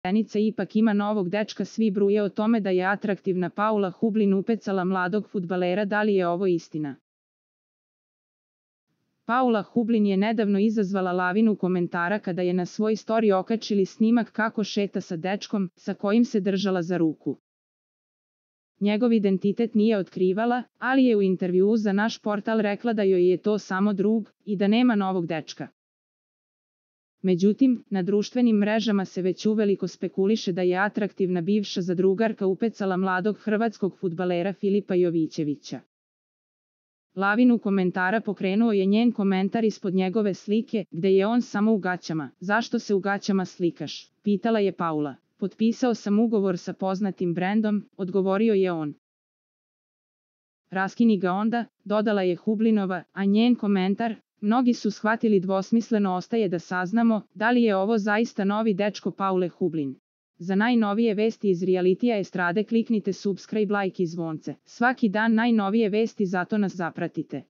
Zenica ipak ima novog dečka, svi bruje o tome da je atraktivna Paula Hublin upecala mladog fudbalera, da li je ovo istina? Paula Hublin je nedavno izazvala lavinu komentara kada je na svoj story okačili snimak kako šeta sa dečkom, sa kojim se držala za ruku. Njegov identitet nije otkrivala, ali je u intervjuu za naš portal rekla da joj je to samo drug i da nema novog dečka. Međutim, na društvenim mrežama se već uveliko spekuliše da je atraktivna bivša zadrugarka upecala mladog hrvatskog fudbalera Filipa Jovićevića. Lavinu komentara pokrenuo je njen komentar ispod njegove slike, gde je on samo u gaćama. Zašto se u gaćama slikaš? Pitala je Paula. Potpisao sam ugovor sa poznatim brendom, odgovorio je on. Raskini ga onda, dodala je Hublinova, a njen komentar, mnogi su shvatili dvosmisleno, ostaje da saznamo da li je ovo zaista novi dečko Paule Hublin. Za najnovije vesti iz realitija estrade kliknite subscribe, like i zvonce. Svaki dan najnovije vesti, zato nas zapratite.